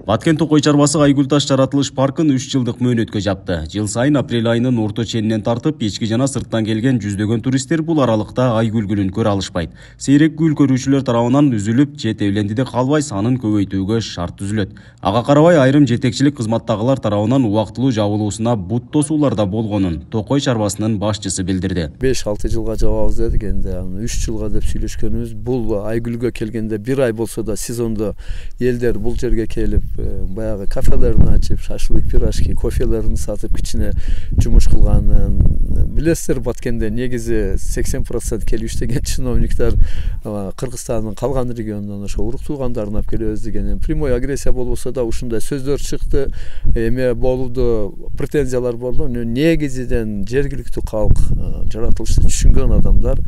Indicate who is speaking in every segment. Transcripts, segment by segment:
Speaker 1: Баткен Токой чарбасы Айгүл таш жаратылыш паркын 3 жылдык мөөнөткө жапты. Жыл сайын апрель айынын орто ченинен тартып, ички жана сырттан келген жүздөгөн туристтер бул аралыкта Айгүл гүлүн көрө алышпайт. Сейрек гүл көрүүчүлөр тарабынан үзүлүп, жетелендиде калбай санын көбөйтүүгө шарт түзүлөт. Ага карабай айрым жетекчилик кызматтагылар тарабынан убактылуу жабылуусуна бут тосуулар да болгонун Токой чарбасынын башчысы билдирди.
Speaker 2: 5-6 жылга жабабыз дедик, энди 3 жылга деп сүйлөшкөнүбүз. Бул Айгүлгө келгенде 1 ай болсо да сезондо элдер бул жерге келип баягы кафелерин ачып, шашлык, пирожки, кофелерин сатып кичине жумуш кылганын билесиздер. Баткенде негизи 80% келип иштеген чиновниктер Кыргызстандын калган регионунан ошо урук туугандарын алып келебиз деген прямой агрессия болбосо да ушундай сөздөр чыкты. Эме болду, претензиялар болду. Негизиден жергиликтүү калк, жаратылышты түшүнгөн адамдар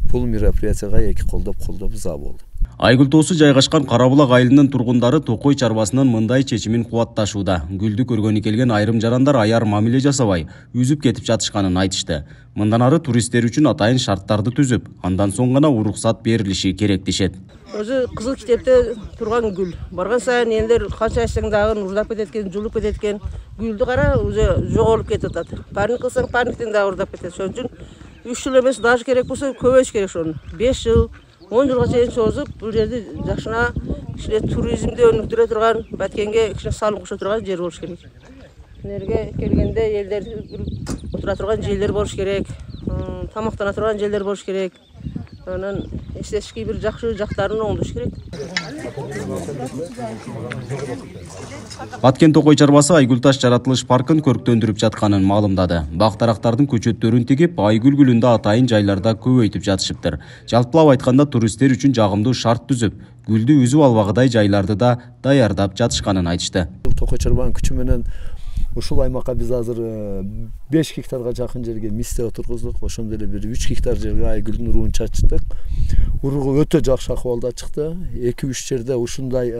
Speaker 2: бул мероприятияга эки колдоп за болду.
Speaker 1: Айгүл тоосу жайгашкан Карабулак айылынын тургундары Токой чарбасынын мындай чечимин кубатташууда. Гүлдү көргөнү келген айрым жарандар аяр мамиле жасабай, үзүп кетип жатышканын айтышты. Мындан ары туристтер үчүн атайын шарттарды түзүп, андан соң гана уруксат берилиши керек дешет.
Speaker 3: Өзү кызыл китепте турган гүл. Барган сайын элдер канча айтсаң дагы уурдап кетет экен, жулуп кетет экен. Гүлдү кара, уже жоголуп кетип атат. Парник кылсаң парниктен дагы уурдап кетет. Ошон үчүн 3 жыл эмес, даже керек болсо көбөйүш керек ошону. 5 жыл 10 жылга чейин созуп, бул жерди жакшына кичине туризмди өнүктүрө турган, Баткенге кичине салым кошо турган жер болуш керек. Энерге келгенде элдер отура турган жерлер болуш керек, тамактана турган жерлер болуш керек. Анан эстетикий бир жакшы жактарын оңдош керек.
Speaker 1: Баткен Токой чарбасы Айгүл таш жаратылыш паркын көрктөндүрүп жатканын маалымдады. Бак-дарактардын көчөттөрүн тигип, Айгүл гүлүндө атайын жайларда көбөйтүп жатышыптыр. Жалпылап айтканда туристтер үчүн жагымдуу шарт түзүп, гүлдү үзүп албагыдай жайларды да даярдап жатышканын айтышты.
Speaker 2: Токой чарбанын күчү менен ушул аймакка биз азыр 5 гектарга жакын жерге мисте отургуздук. Ошондой эле бир 3 гектар жерге Айгүлдүн уругун чачтык. Уругу өтө жакшы акыбалда чыкты. 2-3 жерде ушундай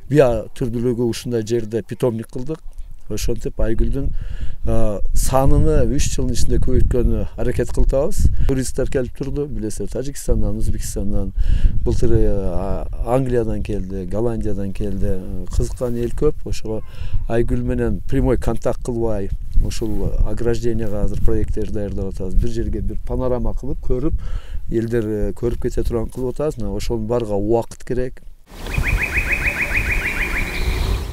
Speaker 2: биа түрдүүлүгү ушундай жерде питомник кылдык. Ошентип Айгүлдүн саныны 3 жылдын ичинде көбөйткөнү аракет кылабыз. Туристтер келип турду, билесиздер, Тажикстандан, Өзбекстандан, былтыр Англиядан келди, Голландиядан келди. Кызыккан эл көп. Ошого Айгүл менен прямой контакт кылбай, ушул огражденияга азыр проекттер даярдап атабыз. Бир жерге бир панорама кылып, көрүп, элдер көрүп кете турган кылып атабыз. Ошонун барга убакыт керек.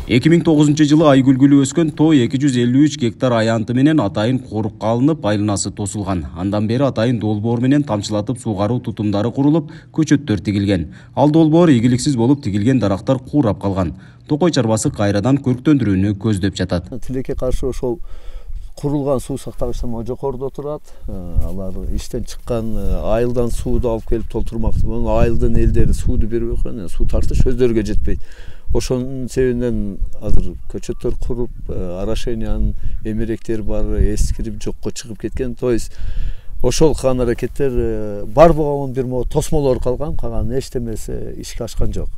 Speaker 1: 2009 жылы Айгүл гүлү өскөн тоо 253 гектар аянты менен атайын корукка алынып, айланасы тосулган. Андан бери атайын долбоор менен тамчылатып суугаруу тутумдары курулуп, көчөттөр тигилген. Ал долбоор ийгиликсиз болуп тигилген дарактар куурап калган. Токой чарбасы кайрадан көрктөндүрүүнү көздөп жатат.
Speaker 2: Тилекке каршы ошол курулган суу сактагычтар жогоруда турат. Алар иштен чыккан айылдан сууду алып келип толтурмакчы. Айылдын элдери сууду бербей койгон, суу тартыш өздөрүгө жетпейт. Ошонун себебинен азыр көчөттөр куруп, орошениянын эмеректери бар, эскирип жокко чыгып кеткен. То есть ошол кылган аракеттер бар болгон бир тосмолор калган, калган эчтемеси ишке ашкан жок.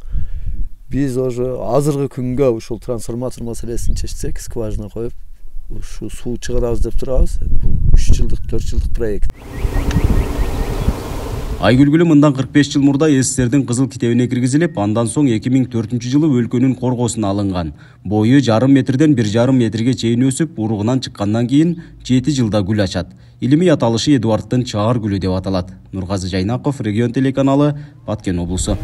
Speaker 2: Биз уже азыркы күнгө ушул трансформатор маселесин чечсек, скважина коюп, ушу суу чыгарабыз деп турабыз. 3 жылдык, 4 жылдык проект.
Speaker 1: Айгүл гүлү мындан 45 жыл мурда СССРдин кызыл китебине киргизилип, андан соң 2004 жылы өлкөнүн коргосуна алынган. Бою 0,5 метрден 1,5 метрге чейин өсүп, уругунан чыккандан кийин 7 жылда гүл ачат. Илимий аталышы Эдуарддын чаар гүлү деп аталат. Нургазы Жайнаков, Регион телеканалы, Баткен облусу.